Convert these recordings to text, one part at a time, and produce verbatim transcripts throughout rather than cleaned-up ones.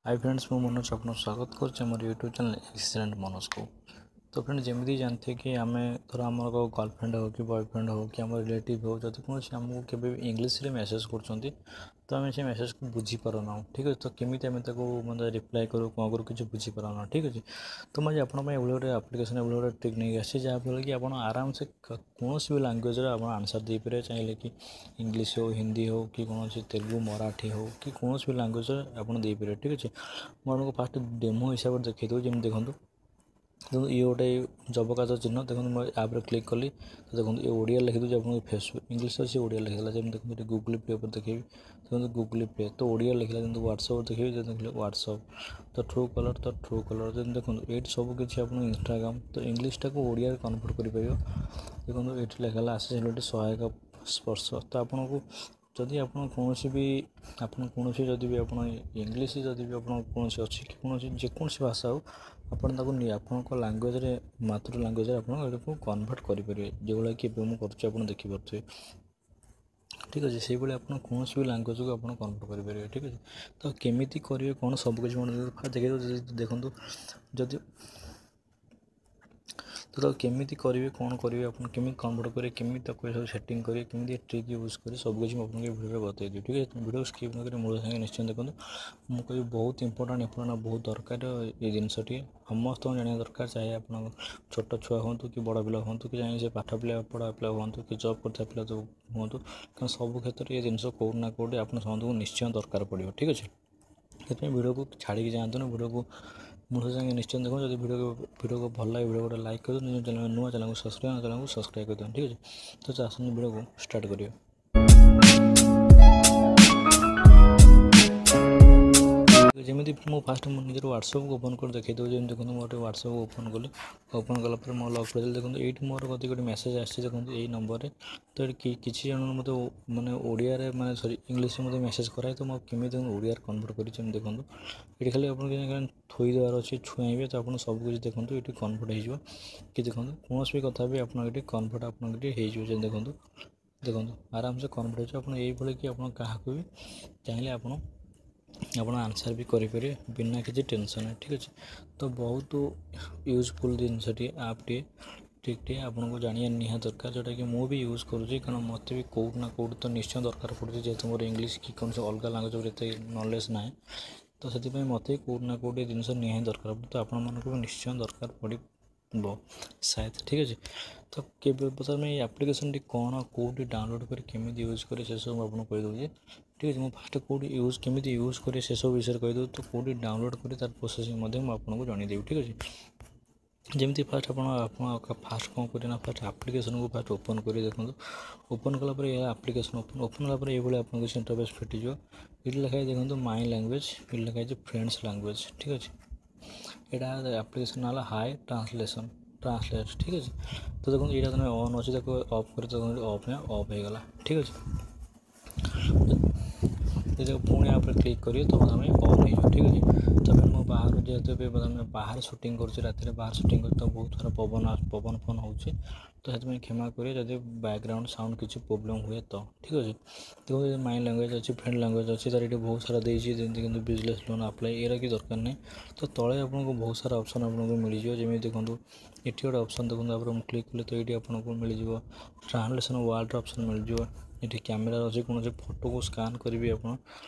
High friends, ମୁଁ ମନୋଜ ଆପଣଙ୍କୁ ସ୍ୱାଗତ କରୁଛି ଆମର ୟୁଟ୍ୟୁବ୍ ଚ୍ୟାନେଲ୍ ଏକ୍ସିଲେଣ୍ଟ ମନୋଜକୁ। ତ ଫ୍ରେଣ୍ଡ, ଯେମିତି ଜାଣିଥିବେ କି ଆମେ ଧର ଆମର ଗର୍ଲଫ୍ରେଣ୍ଡ ହେଉ କି ବୟଫ୍ରେଣ୍ଡ ହେଉ କି ଆମର ରିଲେଟିଭ୍ ହେଉ, ଯଦି କୌଣସି ଆମକୁ କେବେ ବି ଇଂଲିଶରେ ମେସେଜ୍ କରୁଛନ୍ତି, ତ ଆମେ ସେ ମେସେଜ୍କୁ ବୁଝିପାରୁନାହୁଁ। ଠିକ୍ ଅଛି, ତ କେମିତି ଆମେ ତାକୁ ମାନେ ରିପ୍ଲାଏ କରୁ, କ'ଣ କରୁ, କିଛି ବୁଝିପାରୁନାହୁଁ। ଠିକ୍ ଅଛି, ତ ମୁଁ ଆଜି ଆପଣଙ୍କ ପାଇଁ ଏଭଳି ଗୋଟେ ଆପ୍ଲିକେସନ୍, ଏଭଳି ଗୋଟେ ଟ୍ରିକ୍ ନେଇକି ଆସିଛି, ଯାହାଫଳରେ କି ଆପଣ ଆରାମସେ କୌଣସି ବି ଲାଙ୍ଗୁଏଜ୍ରେ ଆପଣ ଆନ୍ସର୍ ଦେଇପାରିବେ। ଚାହିଁଲେ କି ଇଂଲିଶ ହେଉ, ହିନ୍ଦୀ ହେଉ କି କୌଣସି ତେଲୁଗୁ, ମରାଠୀ ହେଉ କି କୌଣସି ବି ଲାଙ୍ଗୁଏଜ୍ରେ ଆପଣ ଦେଇପାରିବେ। ଠିକ୍ ଅଛି, ମୁଁ ଆପଣଙ୍କୁ ଫାଷ୍ଟ ଡେମୋ ହିସାବରେ ଦେଖାଇ ଦେଉଛି। ଯେମିତି ଦେଖନ୍ତୁ ଦେଖନ୍ତୁ, ଇଏ ଗୋଟେ ଯବକାଚ ଚିହ୍ନ। ଦେଖନ୍ତୁ, ମୁଁ ଆପ୍ରେ କ୍ଲିକ୍ କଲି ତ ଦେଖନ୍ତୁ, ଏ ଓଡ଼ିଆ ଲେଖିଦେଉଛି ଆପଣଙ୍କୁ। ଫେସବୁକ୍ ଇଂଲିଶ ଅଛି, ଓଡ଼ିଆ ଲେଖିଦେଲା। ଯେମିତି ଦେଖନ୍ତୁ, ଏଠି ଗୁଗୁଲ୍ ପେ ଉପରେ ଦେଖେଇବି। ଦେଖନ୍ତୁ, ଗୁଗୁଲ୍ ପେ ତ ଓଡ଼ିଆ ଲେଖିଲା। ଯେମିତି ହ୍ୱାଟ୍ସଅପ୍ ଦେଖେଇବି, ଦେଖିଲେ ହ୍ୱାଟ୍ସଅପ୍ ତ ଟ୍ରୁ କଲର୍, ତ ଟ୍ରୁ କଲର୍। ଯେମିତି ଦେଖନ୍ତୁ, ଏଇଠି ସବୁ କିଛି ଆପଣ ଇନଷ୍ଟାଗ୍ରାମ୍ ତ ଇଂଲିଶଟାକୁ ଓଡ଼ିଆରେ କନଭର୍ଟ କରିପାରିବ। ଦେଖନ୍ତୁ, ଏଇଠି ଲେଖା ହେଲା ଆକ୍ସେସିବିଲିଟି ସହାୟକ ସ୍ପର୍ଶ। ତ ଆପଣଙ୍କୁ ଯଦି ଆପଣ କୌଣସି ବି ଆପଣ କୌଣସି ଯଦି ବି ଆପଣ ଇଂଲିଶ ଯଦି ବି ଆପଣ କୌଣସି ଅଛି କି କୌଣସି ଯେକୌଣସି ଭାଷା ହେଉ, ଆପଣ ତାକୁ ଆପଣଙ୍କ ଲାଙ୍ଗୁଏଜ୍ରେ, ମାତୃ ଲାଙ୍ଗୁଏଜ୍ରେ ଆପଣ ଏଟାକୁ କନଭର୍ଟ କରିପାରିବେ, ଯେଉଁଭଳିଆ କି ଏବେ ମୁଁ କରୁଛି, ଆପଣ ଦେଖିପାରୁଥିବେ। ଠିକ୍ ଅଛି, ସେଇଭଳି ଆପଣ କୌଣସି ବି ଲାଙ୍ଗୁଏଜ୍କୁ ଆପଣ କନଭର୍ଟ କରିପାରିବେ। ଠିକ୍ ଅଛି, ତ କେମିତି କରିବେ, କ'ଣ ସବୁ କିଛି ମୁଁ ଦେଖେଇ ଦେଉଛି। ଦେଖନ୍ତୁ, ଯଦି ତ ତାକୁ କେମିତି କରିବେ, କ'ଣ କରିବେ, ଆପଣ କେମିତି କନଭର୍ଟ କରିବେ, କେମିତି ତାକୁ ସବୁ ସେଟିଂ କରିବେ, କେମିତି ଟ୍ରିକ୍ ୟୁଜ୍ କରିବେ, ସବୁ କିଛି ମୁଁ ଆପଣଙ୍କୁ ଏ ଭିଡ଼ିଓରେ ବତେଇଦେବି। ଠିକ୍ ଅଛି, ଭିଡ଼ିଓ ସ୍କିପ୍ ନ କରି ମୂଳ ସାଙ୍ଗେ ନିଶ୍ଚୟ ଦେଖନ୍ତୁ। ମୁଁ କହିବି ବହୁତ ଇମ୍ପୋର୍ଟାଣ୍ଟ ଇମ୍ପୋର୍ଟାଣ୍ଟ ବହୁତ ଦରକାର ଏ ଜିନିଷଟି, ସମସ୍ତଙ୍କୁ ଜାଣିବା ଦରକାର। ଚାହେ ଆପଣ ଛୋଟ ଛୁଆ ହୁଅନ୍ତୁ କି ବଡ଼ ପିଲା ହୁଅନ୍ତୁ, କି ଚାହେଁ ସେ ପାଠ ପିଲା ପଢ଼ା ପିଲା ହୁଅନ୍ତୁ କି ଜବ୍ କରୁଥିବା ପିଲା ହୁଅନ୍ତୁ, କାରଣ ସବୁ କ୍ଷେତ୍ରରେ ଏ ଜିନିଷ କେଉଁଠି ନା କେଉଁଠି ଆପଣ ସମସ୍ତଙ୍କୁ ନିଶ୍ଚୟ ଦରକାର ପଡ଼ିବ। ଠିକ୍ ଅଛି, ସେଥିପାଇଁ ଭିଡ଼ିଓକୁ ଛାଡ଼ିକି ଯାଆନ୍ତୁନି, ଭିଡ଼ିଓକୁ ମୂଳ ସାଙ୍ଗେ ନିଶ୍ଚୟ ଦେଖନ୍ତୁ। ଯଦି ଭିଡ଼ିଓ ଭିଡ଼ିଓକୁ ଭଲ ଲାଗେ, ଭିଡ଼ିଓ ଗୋଟେ ଲାଇକ୍ କରିଦିଅନ୍ତୁ। ନିଜ ଚ୍ୟାନେଲ୍ ନୂଆ, ଚ୍ୟାନେଲକୁ ସବସ୍କ୍ରାଇବ୍, ଚ୍ୟାନେଲକୁ ସବସ୍କ୍ରାଇବ୍ କରିଦିଅନ୍ତୁ। ଠିକ୍ ଅଛି, ତ ଆସନ୍ତୁ ଭିଡ଼ିଓକୁ ଷ୍ଟାର୍ଟ କରିବା। ଯେମିତି ମୁଁ ଫାଷ୍ଟ ମୁଁ ନିଜର ହ୍ୱାଟ୍ସଆପ୍କୁ ଓପନ୍ କରି ଦେଖାଇ ଦେଉଛି। ଯେମିତି ଦେଖନ୍ତୁ, ମୁଁ ଗୋଟେ ହ୍ୱାଟ୍ସଆପ୍ ଓପନ୍ କଲି। ଓପନ୍ କଲା ପରେ ମୋ ଲକ୍ କରିଦେଲି। ଦେଖନ୍ତୁ, ଏଇଠି ମୋର କତିକି ଗୋଟେ ମେସେଜ୍ ଆସିଛି। ଦେଖନ୍ତୁ, ଏଇ ନମ୍ବରରେ ତ ଏଠି କିଛି ଜଣ ମୋତେ ମାନେ ଓଡ଼ିଆରେ, ମାନେ ସରି, ଇଂଲିଶରେ ମୋତେ ମେସେଜ୍ କରାଏ। ତ ମୁଁ କେମିତି ଓଡ଼ିଆରେ କନଭର୍ଟ କରିଛି, ଯେମିତି ଦେଖନ୍ତୁ, ଏଠି ଖାଲି ଆପଣ ଥୋଇ ଦେବାର ଅଛି, ଛୁଆଇବେ ତ ଆପଣ ସବୁ କିଛି ଦେଖନ୍ତୁ ଏଠି କନଭର୍ଟ ହେଇଯିବ। କି ଦେଖନ୍ତୁ, କୌଣସି ବି କଥା ବି ଆପଣ ଏଠି କନଭର୍ଟ ଆପଣଙ୍କ ଏଠି ହେଇଯିବ। ଯେମିତି ଦେଖନ୍ତୁ ଦେଖନ୍ତୁ ଆରାମସେ କନଭର୍ଟ ହେଇଯିବ। ଆପଣ ଏଇଭଳି କି ଆପଣ କାହାକୁ ବି ଚାହିଁଲେ ଆପଣ ଆପଣ ଆନ୍ସର୍ ବି କରିପାରିବେ ବିନା କିଛି ଟେନସନ୍। ଠିକ୍ ଅଛି, ତ ବହୁତ ୟୁଜଫୁଲ୍ ଜିନିଷଟିଏ, ଆପ୍ଟିଏ, ଟ୍ରିକ୍ଟିଏ ଆପଣଙ୍କୁ ଜାଣିବା ନିହାତି ଦରକାର, ଯେଉଁଟାକି ମୁଁ ବି ୟୁଜ୍ କରୁଛି। କାରଣ ମୋତେ ବି କେଉଁଠି ନା କେଉଁଠି ତ ନିଶ୍ଚୟ ଦରକାର ପଡ଼ୁଛି। ଯେହେତୁ ମୋର ଇଂଲିଶ କି କୌଣସି ଅଲଗା ଲାଙ୍ଗୁଏଜ୍ ଉପରେ ଏତେ ନଲେଜ୍ ନାହିଁ, ତ ସେଥିପାଇଁ ମୋତେ କେଉଁଠି ନା କେଉଁଠି ଏ ଜିନିଷ ନିହାତି ଦରକାର। ତ ଆପଣମାନଙ୍କୁ ବି ନିଶ୍ଚୟ ଦରକାର ପଡ଼ିବ ସାୟଦ। ଠିକ୍ ଅଛି, ତ କେବେ ପ୍ରଥମେ ଏଇ ଆପ୍ଲିକେସନ୍ଟି କ'ଣ, କେଉଁଠି ଡାଉନଲୋଡ଼୍ କରି କେମିତି ୟୁଜ୍ କରି, ସେସବୁ ମୁଁ ଆପଣଙ୍କୁ କହିଦେଉଛି। ଠିକ୍ ଅଛି, ମୁଁ ଫାଷ୍ଟ କେଉଁଠି ୟୁଜ୍ କେମିତି ୟୁଜ୍ କରି ସେସବୁ ବିଷୟରେ କହିଦେଉଛି, ତ କେଉଁଠି ଡାଉନଲୋଡ଼୍ କରି ତାର ପ୍ରୋସେସିଂ ମଧ୍ୟ ମୁଁ ଆପଣଙ୍କୁ ଜଣାଇଦେବି। ଠିକ୍ ଅଛି, ଯେମିତି ଫାଷ୍ଟ ଆପଣ ଆପଣ ଫାଷ୍ଟ କ'ଣ କରିବେ ନା, ଫାଷ୍ଟ ଆପ୍ଲିକେସନ୍କୁ ଫାଷ୍ଟ ଓପନ୍ କରି ଦେଖନ୍ତୁ। ଓପନ୍ କଲା ପରେ ଏହା ଆପ୍ଲିକେସନ୍ ଓପନ୍ ଓପନ୍ କଲା ପରେ ଏଇଭଳି ଆପଣଙ୍କୁ ଇଣ୍ଟରଫେସ୍ ଫିଟିଯିବ। ଏଇଠି ଲେଖା ହେଇଛି ଦେଖନ୍ତୁ ମାଇ ଲାଙ୍ଗୁଏଜ୍, ଏଇଠି ଲେଖା ହେଇଛି ଫ୍ରେଣ୍ଡସ୍ ଲାଙ୍ଗୁଏଜ୍। ଠିକ୍ ଅଛି, ଏଇଟା ଆପ୍ଲିକେସନ୍ ହେଲା ହାଇ ଟ୍ରାନ୍ସଲେସନ୍ ଟ୍ରାନ୍ସଲେଟ୍। ଠିକ୍ ଅଛି, ତ ଦେଖନ୍ତୁ, ଏଇଟା ତମେ ଅନ୍ ଅଛି, ତାକୁ ଅଫ୍ କରି ଦେଖନ୍ତୁ, ଅଫ୍ ଅଫ୍ ହେଇଗଲା। ଠିକ୍ ଅଛି, ଯଦି ପୁଣି ଆପ୍ରେ କ୍ଲିକ୍ କରିବେ ତ ଆମେ ଅନ୍ ହେଇଯିବ। ଠିକ୍ ଅଛି, ତାପରେ ମୁଁ ବାହାରୁ, ଯେହେତୁ ଏବେ ଆମେ ବାହାରେ ସୁଟିଂ କରୁଛି, ରାତିରେ ବାହାରେ ସୁଟିଂ କରୁଛି, ତ ବହୁତ ସାରା ପବନ ପବନ ଫବନ ହେଉଛି, ତ ସେଥିପାଇଁ କ୍ଷମା କରିବେ ଯଦି ବ୍ୟାକଗ୍ରାଉଣ୍ଡ ସାଉଣ୍ଡ କିଛି ପ୍ରୋବ୍ଲେମ୍ ହୁଏ ତ। ଠିକ୍ ଅଛି, ଦେଖନ୍ତୁ, ମାଇ ଲାଙ୍ଗୁଏଜ୍ ଅଛି, ଫ୍ରେଣ୍ଡ ଲାଙ୍ଗୁଏଜ୍ ଅଛି, ତାର ଏଠି ବହୁତ ସାରା ଦେଇଛି। ଯେମିତି କିନ୍ତୁ ବିଜନେସ୍ ଲୋନ୍ ଆପ୍ଲାଏ, ଏରା କି ଦରକାର ନାହିଁ। ତ ତଳେ ଆପଣଙ୍କୁ ବହୁତ ସାରା ଅପସନ୍ ଆପଣଙ୍କୁ ମିଳିଯିବ। ଯେମିତି ଦେଖନ୍ତୁ, ଏଠି ଗୋଟେ ଅପସନ୍ ଦେଖନ୍ତୁ, ତାପରେ ମୁଁ କ୍ଲିକ୍ କଲି ତ ଏଇଠି ଆପଣଙ୍କୁ ମିଳିଯିବ ଟ୍ରାନ୍ସଲେସନ୍ ୱାର୍ଡ଼ର ଅପସନ୍ ମିଳିଯିବ। ଏଠି କ୍ୟାମେରା ଅଛି, କୌଣସି ଫଟୋକୁ ସ୍କାନ୍ କରିବି ଆପଣ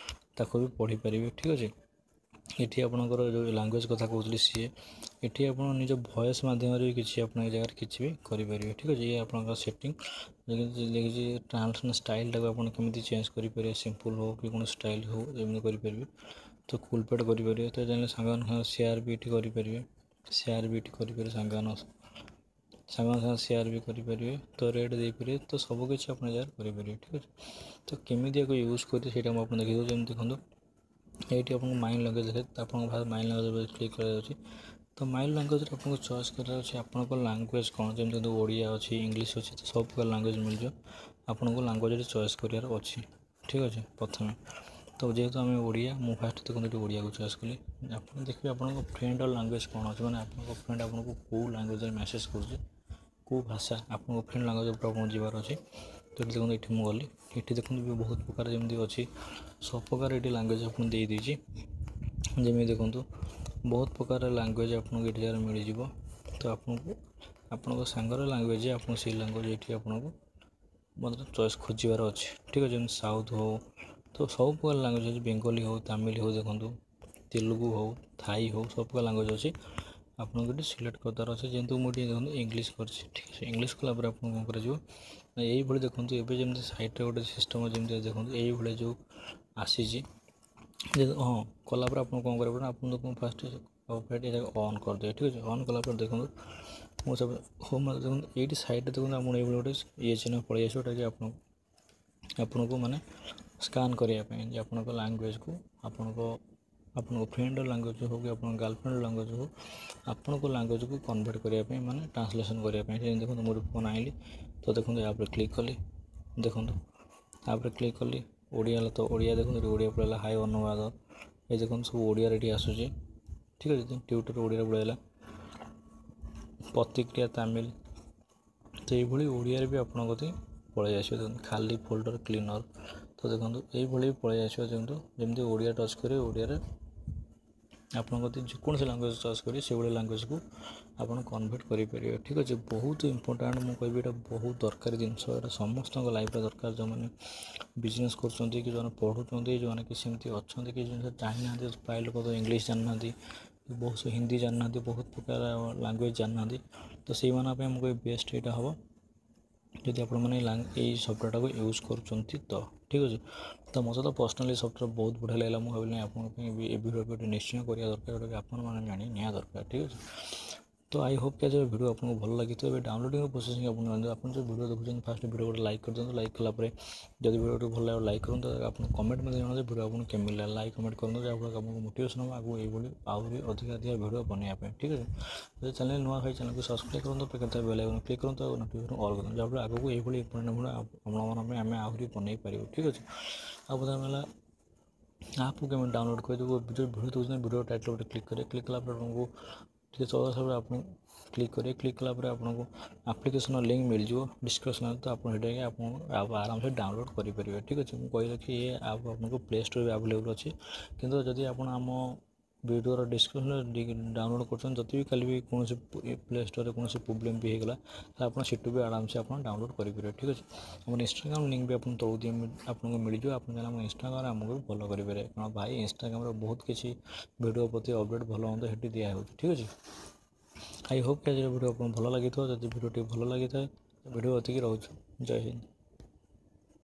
ତାକୁ ବି ପଢ଼ିପାରିବେ। ଠିକ୍ ଅଛି, ଏଠି ଆପଣଙ୍କର ଯେଉଁ ଲାଙ୍ଗୁଏଜ୍ କଥା କହୁଥିଲି ସିଏ, ଏଠି ଆପଣ ନିଜ ଭଏସ୍ ମାଧ୍ୟମରେ ବି କିଛି ଆପଣ ଏ ଜାଗାରେ କିଛି ବି କରିପାରିବେ। ଠିକ୍ ଅଛି, ଇଏ ଆପଣଙ୍କର ସେଟିଂ ଲେଖିଛି। ଟ୍ରାନ୍ସଲେସନ୍ ଷ୍ଟାଇଲ୍ଟାକୁ ଆପଣ କେମିତି ଚେଞ୍ଜ କରିପାରିବେ, ସିମ୍ପଲ୍ ହେଉ କି କୌଣସି ଷ୍ଟାଇଲ୍ ହେଉ, ଏମିତି କରିପାରିବେ। ତ କୁଲପେଡ଼ କରିପାରିବେ, ତ ଚାହିଁଲେ ସାଙ୍ଗମାନଙ୍କ ସାଙ୍ଗେ ସେୟାର ବି ଏଠି କରିପାରିବେ, ସେୟାର ବି ଏଠି କରିପାରିବେ, ସାଙ୍ଗମାନଙ୍କ ସାଙ୍ଗମାନଙ୍କ ସାଙ୍ଗେ ସେୟାର ବି କରିପାରିବେ, ତ ରେଟ୍ ଦେଇପାରିବେ, ତ ସବୁକିଛି ଆପଣ ଏ ଜାଗାରେ କରିପାରିବେ। ଠିକ୍ ଅଛି, ତ କେମିତି ୟାକୁ ୟୁଜ୍ କରିବେ, ସେଇଟା ମୁଁ ଆପଣଙ୍କୁ ଦେଖାଇ ଦେଉଛି। ଯେମିତି ଦେଖନ୍ତୁ, ଏଇଠି ଆପଣଙ୍କୁ ମାଇ ଲାଙ୍ଗୁଏଜ୍ ଦେଖେ, ଆପଣଙ୍କ ମାଇ ଲାଙ୍ଗୁଏଜ୍ ଉପରେ କ୍ଲିକ୍ କରାଯାଉଛି। ତ ମାଇ ଲାଙ୍ଗୁଏଜ୍ରେ ଆପଣଙ୍କୁ ଚଏସ୍ କରିବାର ଅଛି ଆପଣଙ୍କ ଲାଙ୍ଗୁଏଜ୍ କ'ଣ। ଯେମିତି ଓଡ଼ିଆ ଅଛି, ଇଂଲିଶ ଅଛି, ତ ସବୁ ପ୍ରକାର ଲାଙ୍ଗୁଏଜ୍ ମିଳିଯିବ ଆପଣଙ୍କୁ, ଲାଙ୍ଗୁଏଜ୍ରେ ଚଏସ୍ କରିବାର ଅଛି। ଠିକ୍ ଅଛି, ପ୍ରଥମେ ତ ଯେହେତୁ ଆମେ ଓଡ଼ିଆ, ମୁଁ ଫାଷ୍ଟ ଦେଖନ୍ତୁ ଏଠି ଓଡ଼ିଆକୁ ଚଏସ୍ କଲି। ଆପଣ ଦେଖିବେ ଆପଣଙ୍କ ଫ୍ରେଣ୍ଡର ଲାଙ୍ଗୁଏଜ୍ କ'ଣ ଅଛି, ମାନେ ଆପଣଙ୍କ ଫ୍ରେଣ୍ଡ ଆପଣଙ୍କୁ କେଉଁ ଲାଙ୍ଗୁଏଜ୍ରେ ମେସେଜ୍ କରୁଛି, କେଉଁ ଭାଷା, ଆପଣଙ୍କ ଫ୍ରେଣ୍ଡ ଲାଙ୍ଗୁଏଜ୍ ଉପରେ ଆପଣଙ୍କୁ ଯିବାର ଅଛି। ତ ଏଠି ଦେଖନ୍ତୁ, ଏଠି ମୁଁ ଗଲି, ଏଠି ଦେଖନ୍ତୁ ବି ବହୁତ ପ୍ରକାର ଯେମିତି ଅଛି, ସବୁ ପ୍ରକାର ଏଠି ଲାଙ୍ଗୁଏଜ୍ ଆପଣଙ୍କୁ ଦେଇଦେଇଛି। ଯେମିତି ଦେଖନ୍ତୁ ବହୁତ ପ୍ରକାର ଲାଙ୍ଗୁଏଜ୍ ଆପଣଙ୍କୁ ଏଠି ଜାଗାରେ ମିଳିଯିବ। ତ ଆପଣଙ୍କୁ ଆପଣଙ୍କ ସାଙ୍ଗର ଲାଙ୍ଗୁଏଜ୍, ଆପଣଙ୍କୁ ସେଇ ଲାଙ୍ଗୁଏଜ୍ ଏଠି ଆପଣଙ୍କୁ ମଧ୍ୟ ଚଏସ୍ ଖୋଜିବାର ଅଛି, ଠିକ୍ ଅଛି। ଯେମିତି ସାଉଥ୍ ହଉ, ତ ସବୁ ପ୍ରକାର ଲାଙ୍ଗୁଏଜ୍ ଅଛି। ବେଙ୍ଗଲୀ ହଉ, ତାମିଲ ହଉ, ଦେଖନ୍ତୁ ତେଲୁଗୁ ହଉ, ଥାଇ ହଉ, ସବୁ ପ୍ରକାର ଲାଙ୍ଗୁଏଜ୍ ଅଛି। ଆପଣଙ୍କୁ ଏଠି ସିଲେକ୍ଟ କରିବାର ଅଛି। ଯେହେତୁ ମୁଁ ଟିକେ ଦେଖନ୍ତୁ ଇଂଲିଶ କରିଛି, ଠିକ୍ ଅଛି। ଇଂଲିଶ କଲା ପରେ ଆପଣଙ୍କୁ କ'ଣ କରାଯିବ ନା ଏଇଭଳି ଦେଖନ୍ତୁ ଏବେ ଯେମିତି ସାଇଡ଼୍ରେ ଗୋଟେ ସିଷ୍ଟମ୍ ଯେମିତି ଦେଖନ୍ତୁ ଏଇଭଳି ଯେଉଁ ଆସିଛି। ହଁ, କଲା ପରେ ଆପଣ କ'ଣ କରିବେ ନା ଆପଣ ଦେଖନ୍ତୁ ଫାଷ୍ଟ ଏଇଟାକୁ ଅନ୍ କରିଦେବେ, ଠିକ୍ ଅଛି। ଅନ୍ କଲା ପରେ ଦେଖନ୍ତୁ ମୁଁ ସବୁ ହୋମ୍, ଦେଖନ୍ତୁ ଏଇଠି ସାଇଡ଼୍ରେ ଦେଖନ୍ତୁ ଆପଣ ଏଇଭଳି ଗୋଟେ ଇଏ ଚିହ୍ନ ପଳେଇ ଆସିବ, ଯେଉଁଟାକି ଆପଣ ଆପଣଙ୍କୁ ମାନେ ସ୍କାନ୍ କରିବା ପାଇଁ ଯେ ଆପଣଙ୍କ ଲାଙ୍ଗୁଏଜ୍କୁ, ଆପଣଙ୍କ ଆପଣଙ୍କ ଫ୍ରେଣ୍ଡର ଲାଙ୍ଗୁଏଜ୍ ହଉ କି ଆପଣଙ୍କ ଗାର୍ଲଫ୍ରେଣ୍ଡର ଲାଙ୍ଗୁଏଜ୍ ହଉ, ଆପଣଙ୍କ ଲାଙ୍ଗୁଏଜ୍କୁ କନଭର୍ଟ କରିବା ପାଇଁ, ମାନେ ଟ୍ରାନ୍ସଲେସନ୍ କରିବା ପାଇଁ। ଯେମିତି ଦେଖନ୍ତୁ ମୁଁ ଗୋଟେ ଫୋନ୍ ଆଣିଲି, ତ ଦେଖନ୍ତୁ ୟା ଉପରେ କ୍ଲିକ୍ କଲି, ଦେଖନ୍ତୁ ତାପରେ କ୍ଲିକ୍ କଲି ଓଡ଼ିଆ ହେଲା, ତ ଓଡ଼ିଆ ଦେଖନ୍ତୁ ଏଠି ଓଡ଼ିଆ ପଳେଇଲା। ହାଇ ଅନୁବାଦ, ଏ ଦେଖନ୍ତୁ ସବୁ ଓଡ଼ିଆରେ ଏଠି ଆସୁଛି, ଠିକ୍ ଅଛି। ଟ୍ୱିଟର୍ ଓଡ଼ିଆରେ ପଳେଇଲା, ପ୍ରତିକ୍ରିୟା ତାମିଲ, ତ ଏଇଭଳି ଓଡ଼ିଆରେ ବି ଆପଣଙ୍କ କତିକି ପଳେଇ ଆସିବ। ଦେଖନ୍ତୁ ଖାଲି ଫୋଲ୍ଡର କ୍ଲିନର୍, ତ ଦେଖନ୍ତୁ ଏଇଭଳି ପଳେଇ ଆସିବ। ଦେଖନ୍ତୁ ଯେମିତି ଓଡ଼ିଆ ଟଚ୍ କରିବେ, ଓଡ଼ିଆରେ ଆପଣଙ୍କ କତିକି ଯେକୌଣସି ଲାଙ୍ଗୁଏଜ୍ ଚଏସ୍ କରିବେ, ସେଇଭଳି ଲାଙ୍ଗୁଏଜ୍କୁ ଆପଣ କନଭର୍ଟ କରିପାରିବେ, ଠିକ୍ ଅଛି। ବହୁତ ଇମ୍ପୋର୍ଟାଣ୍ଟ, ମୁଁ କହିବି ଏଇଟା ବହୁତ ଦରକାରୀ ଜିନିଷ। ଏଇଟା ସମସ୍ତଙ୍କ ଲାଇଫ୍ରେ ଦରକାର, ଯେଉଁମାନେ ବିଜନେସ୍ କରୁଛନ୍ତି କି ଯେଉଁମାନେ ପଢ଼ୁଛନ୍ତି, ଯେଉଁମାନେ କି ସେମିତି ଅଛନ୍ତି କି ଜିନିଷ ଜାଣିନାହାନ୍ତି। ପ୍ରାୟ ଲୋକ ତ ଇଂଲିଶ ଜାଣିନାହାନ୍ତି, ବହୁତ ହିନ୍ଦୀ ଜାଣିନାହାନ୍ତି, ବହୁତ ପ୍ରକାର ଲାଙ୍ଗୁଏଜ୍ ଜାଣିନାହାନ୍ତି। ତ ସେଇମାନଙ୍କ ପାଇଁ ମୁଁ କହିବି ବେଷ୍ଟ ଏଇଟା ହେବ ଯଦି ଆପଣମାନେ ଏଇ ସଫ୍ଟୱେର୍ଟାକୁ ୟୁଜ୍ କରୁଛନ୍ତି ତ, ଠିକ୍ ଅଛି। ତ ମୋତେ ତ ପର୍ସନାଲି ସଫ୍ଟୱେର୍ ବହୁତ ବଢ଼ିଆ ଲାଗିଲା। ମୁଁ ଭାବିଲି ଆପଣଙ୍କ ପାଇଁ ବି ଏ ଭିଡ଼ିଓ ନିଶ୍ଚୟ କରିବା ଦରକାର, ଯେଉଁଟାକି ଆପଣମାନେ ଜାଣି ନିଆ ଦରକାର, ଠିକ୍ ଅଛି। ତ I Hope କି ଆଜିର ଭିଡ଼ିଓ ଆପଣଙ୍କୁ ଭଲ ଲାଗିଥିବ। ଏବେ ଡାଉନଲୋଡ଼ିଂ ପ୍ରୋସେସିଂ ଆପଣ ଜାଣନ୍ତୁ। ଆପଣ ଯେଉଁ ଭିଡ଼ିଓ ଦେଖୁଛନ୍ତି, ଫାଷ୍ଟ ଭିଡ଼ିଓ ଗୋଟେ ଲାଇକ୍ କରିଦିଅନ୍ତୁ। ଲାଇକ୍ କଲା ପରେ ଯଦି ଭିଡ଼ିଓଟି ଭଲ ଲାଗିବ ଲାଇକ୍ କରନ୍ତୁ। ଆପଣ କମେଣ୍ଟ ମଧ୍ୟ ଜଣାନ୍ତୁ ଭିଡ଼ିଓ ଆପଣଙ୍କୁ କେମିତି ଲାଗିଲା। ଲାଇକ୍ କମେଣ୍ଟ କରନ୍ତୁ, ଯାହାଫଳରେ ଆପଣଙ୍କୁ ମୋଟିଭେସନ୍ ହେବ ଆଗକୁ ଏଇଭଳି ଆହୁରି ଅଧିକା ଅଧିକା ଭିଡ଼ିଓ ବନେଇବା ପାଇଁ, ଠିକ୍ ଅଛି। ଯଦି ଚ୍ୟାନେଲ୍ ନୂଆ ହୋଇ ଚ୍ୟାନେଲକୁ ସବସ୍କ୍ରାଇବ୍ କରନ୍ତୁ, ପାଖରେ ଥିବା ବେଲ୍ ଆଇକନ୍ କ୍ଲିକ୍ କରନ୍ତୁ ଆଉ ନୋଟିଫିକେସନ୍ ଅଲ୍ କରନ୍ତୁ, ଯାହାଫଳରେ ଆଗକୁ ଏଇଭଳି ଇମ୍ପୋର୍ଟାଣ୍ଟ ଭିଡ଼ିଓ ଆପଣମାନଙ୍କ ପାଇଁ ଆମେ ଆହୁରି ବନେଇ ପାରିବୁ, ଠିକ୍ ଅଛି। ଆଉ ବର୍ତ୍ତମାନ ହେଲା ଆପ୍କୁ କେମିତି ଡାଉନଲୋଡ଼୍ କରିଦେବୁ। ଯେଉଁ ଭିଡ଼ିଓ ଦେଉଛନ୍ତି, ଭିଡ଼ିଓ ଟାଇଟଲ୍ ଗୋଟେ କ୍ଲିକ୍ କରିବେ। କ୍ଲିକ୍ କଲା ପରେ ଆପଣଙ୍କୁ ଟିକେ ତଳ ଆସିଲା ପରେ ଆପଣ କ୍ଲିକ୍ କରିବେ। କ୍ଲିକ୍ କଲା ପରେ ଆପଣଙ୍କୁ ଆପ୍ଲିକେସନ୍ର ଲିଙ୍କ୍ ମିଳିଯିବ ଡିସ୍କ୍ରିପ୍ସନ୍ରେ, ତ ଆପଣ ସେଠି ଯାଇକି ଆପଣ ଆପ୍ ଆରାମସେ ଡାଉନଲୋଡ଼୍ କରିପାରିବେ, ଠିକ୍ ଅଛି। ମୁଁ କହି ରଖି ଏ ଆପ୍ ଆପଣଙ୍କୁ ପ୍ଲେ ଷ୍ଟୋର୍ ବି ଆଭେଲେବୁଲ୍ ଅଛି, କିନ୍ତୁ ଯଦି ଆପଣ ଆମ ଭିଡ଼ିଓର ଡିସ୍କ୍ରିପ୍ସନ୍ରେ ଡାଉନଲୋଡ଼୍ କରୁଛନ୍ତି, ଯଦି ବି କାଲି ବି କୌଣସି ପ୍ଲେ ଷ୍ଟୋର୍ରେ କୌଣସି ପ୍ରୋବ୍ଲେମ୍ ବି ହେଇଗଲା, ତାହେଲେ ଆପଣ ସେଠୁ ବି ଆରାମସେ ଆପଣ ଡାଉନଲୋଡ଼୍ କରିପାରିବେ, ଠିକ୍ ଅଛି। ଆମର ଇନଷ୍ଟାଗ୍ରାମ ଲିଙ୍କ୍ ବି ଆପଣ ତଳକୁ ଦିଏ ଆପଣଙ୍କୁ ମିଳିଯିବ। ଆପଣ ଚାହିଁଲେ ଆମ ଇନଷ୍ଟାଗ୍ରାମରେ ଆମକୁ ବି ଫଲୋ କରିପାରିବେ, କାରଣ ଭାଇ ଇନଷ୍ଟାଗ୍ରାମରେ ବହୁତ କିଛି ଭିଡ଼ିଓ ପ୍ରତି ଅପଡ଼େଟ୍ ଭଲ ମନ୍ଦ ସେଠି ଦିଆହେଉଛି, ଠିକ୍ ଅଛି। I Hope କି ଆଜିର ଭିଡ଼ିଓ ଆପଣଙ୍କୁ ଭଲ ଲାଗିଥିବ। ଯଦି ଭିଡ଼ିଓଟି ଭଲ ଲାଗିଥାଏ, ଭିଡ଼ିଓ ଏତିକି ରହୁଛି। ଜୟ ହିନ୍ଦ।